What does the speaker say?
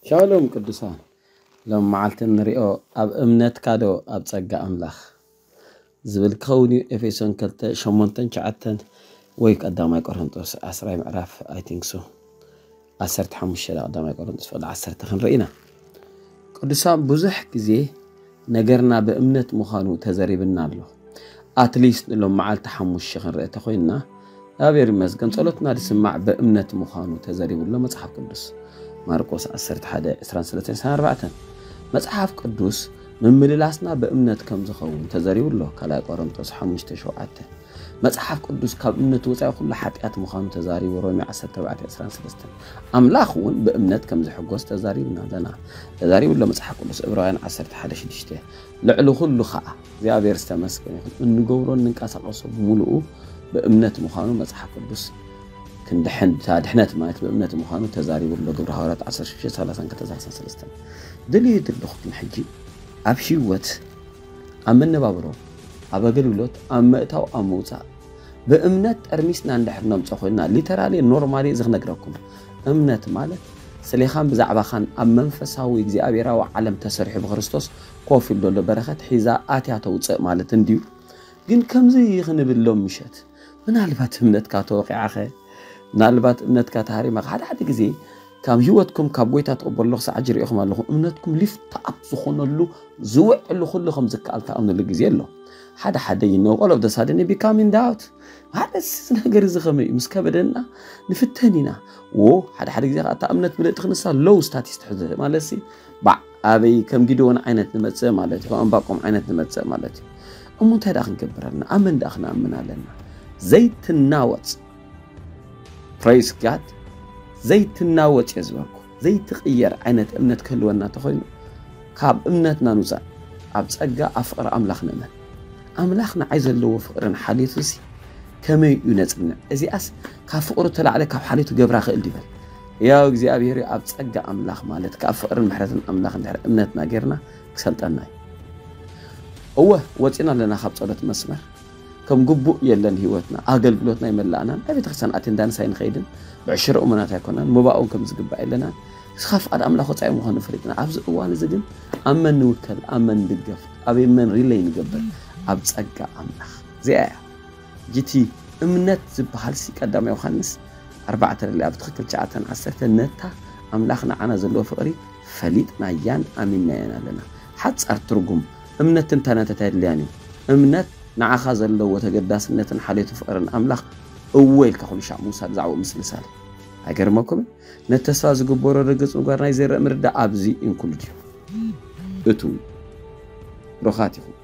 ሻሎም ቅዱሳን፣ ሎም መዓልቲ ንሪኦ ኣብ እምነትካ ዶ ኣብ ጸጋ ኣምላኽ ዝብል ክኸውን እዩ። ኤፌሶን ክልተ ሸሞንተን ትሽዓተን ወይ ቀዳማይ ቆሮንጦስ ዓስራይ ምዕራፍ፣ I think so፣ ዓሰርተ ሓሙሽተ፣ ቀዳማይ ቆሮንጦስ ፍቕዲ ዓሰርተ ክንርኢ ኢና። ቅዱሳን፣ ብዙሕ ግዜ ነገርና ብእምነት ምዃኑ ተዘሪብና ኣሎ። ኣትሊስት ንሎም መዓልቲ ሓሙሽተ ክንርኢ ተኾይንና፣ እግዚኣብሔር ይመስገን፣ ጸሎትና ዝስማዕ ብእምነት ምዃኑ ተዘሪቡ ኣሎ መጽሓፍ ቅዱስ። ማርቆስ ዓሰርተ ሓደ ዕስራን ሰለስተን ዕስራን ኣርባዕተን። መጽሓፍ ቅዱስ ምምልላስና ብእምነት ከም ዝኸውን ተዘሪቡ ኣሎ ካልኣይ ቆሮንቶስ ሓሙሽተ ሸውዓተ። መጽሓፍ ቅዱስ ካብ እምነት ወጻኢ ኩሉ ሓጢኣት ምዃኑ ተዛሪቡ ሮሜ ዓሰርተ ኣርባዕተ ዕስራን ሰለስተን። ኣምላኽ እውን ብእምነት ከም ዝሕጎስ ተዛሪብና ኣለና፣ ተዛሪቡ ኣሎ መጽሓፍ ቅዱስ ዕብራውያን ዓሰርተ ሓደ ሽዱሽተ። ልዕሊ ኩሉ ኸዓ እግዚኣብሔር ዝተመስገነ ይኹን፣ እንገብሮ እንንቀሳቐሶ ብምሉኡ ብእምነት ምዃኑ መጽሓፍ ቅዱስ ክንድሕን፣ እታ ድሕነት ማለት ብእምነት ምዃኑ ተዛሪቡ ኣሎ ግብረ ሃዋርያት ዓሰርተ ሽዱሽተ ሰላሳን ክልተ ሰላሳን ሰለስተን። ድልዩ ዘለኹ ግን ሕጂ ኣብ ህይወት፣ ኣብ መነባብሮ፣ ኣብ ኣገልግሎት፣ ኣብ ምእታው፣ ኣብ ምውጻእ ብእምነት ጠርሚስና እንድሕር ነምጾ ኮይንና፣ ሊተራሊ ኖርማሊ እዚ ክነግረኩም፣ እምነት ማለት ስሌኻን ብዛዕባኻን ኣብ መንፈሳዊ እግዚኣብሔራዊ ዓለም ተሰሪሑ ብክርስቶስ ኮፍ ኢሉ ዘሎ በረኸት ሒዛ ኣትያ ተውፅእ ማለት እንድዩ። ግን ከምዚ ክንብል ሎም ምሸት ምናልባት እምነትካ ተወቂዓኸ፣ ምናልባት እምነትካ ተሃሪማኸ፣ ሓደ ሓደ ግዜ ካብ ህይወትኩም ካብ ጎይታ ትቕበሉ ክሳዕ ሕጂ ሪኢኹም ኣለኹም፣ እምነትኩም ሊፍት ኣፕ ዝኾነሉ ዝውዕሉ ኩሉ ከም ዝከኣል ትኣምንሉ ግዜ ኣሎ። ሓደ ሓደ you know all of the sudden you become in doubt። ማለት እዚ ነገር እዚ ከመይ እዩ ምስ ከበደና ንፍተን ኢና። ዎ ሓደ ሓደ ግዜ ከዓ እታ እምነት ምልእቲ ክንሳ ሎው ስታቲስ ትሕዘ ማለት ሲ ባዕ ኣበይ ከም ጊድዮን ዓይነት ንመጽእ ማለት እዩ፣ ከም ኣንባቆም ዓይነት ንመጽእ ማለት እዩ። እሞ እንታይ ደኣ ክንገብር ኣለና? ኣመን ደኣ ክንኣምን ኣለና። ዘይትናወጽ፣ ፕሬስ ጋድ፣ ዘይትናወጽ እየ ዝበልኩ፣ ዘይትቕየር ዓይነት እምነት ክህልወና እንተኾይኑ፣ ካብ እምነትና ንውፃእ፣ ኣብ ጸጋ ኣብ ፍቕሪ ኣምላኽ ንእመን። ኣምላኽ ንዓይ ዘለዎ ፍቕርን ሓልዮቱንሲ ከመይ እዩ ነጽንዕ? እዚኣስ ካብ ፍቕሩ ተላዕለ ካብ ሓልዮቱ ገብራ ክእል ድበል? ያው እግዚኣብሔር ኣብ ጸጋ ኣምላኽ ማለት ካብ ፍቕርን ምሕረትን ኣምላኽ እንድሕር እምነትና ጌርና ክሰልጠና እዩ። እወ ወፂና ኣለና ካብ ጸሎት መስመር። ከም ግቡእ የለን ህይወትና፣ ኣገልግሎትና ይመላእናን፣ ኣብ ቤተክርስትያን ኣቴንዳንስ ኣይንኸይድን፣ ብዕሽረ እሙናት ኣይኮናን፣ ምባእውን ከም ዝግባእ የለናን። እስኻ ፍቓድ ኣምላኽ ወፃኢ ምዃኑ ፈሊጥና፣ ኣብዚ እዋን እዚ ግን ኣብ መን ንውከል፣ ኣብ መን ንድገፍ፣ ኣበይ መን ሪለይ ንገብር? ኣብ ጸጋ ኣምላኽ። እዚኣ እያ ጅቲ እምነት ዝበሃል ሲ ቀዳማይ ዮሃንስ ኣርባዕተ ርሊ ኣብ ትኽክል ትሽዓተን ዓሰርተን ነታ ኣምላኽ ንዓና ዘለዎ ፍቕሪ ፈሊጥናያን ኣሚንናያን ኣለና። ሓጻር ትርጉም እምነት ትንታነታት ኣየድልያን እዩ። እምነት ንዓኻ ዘለዎ ተገዳስነትን ሓልዮቱ ፍቕርን ኣምላኽ እወ ኢልካ ኩሉ ሻዕ ምውሳድ ዛዕባኡ ምስልሳል። ኣይገርመኩምን? ነቲ ተስፋ ዝግበሮ ርግጽ ምግባር ናይ ዘይረእ ምርዳእ ኣብዚ ኢንክሉድ እዩ። እቱ ብሩኻት ኢኹም።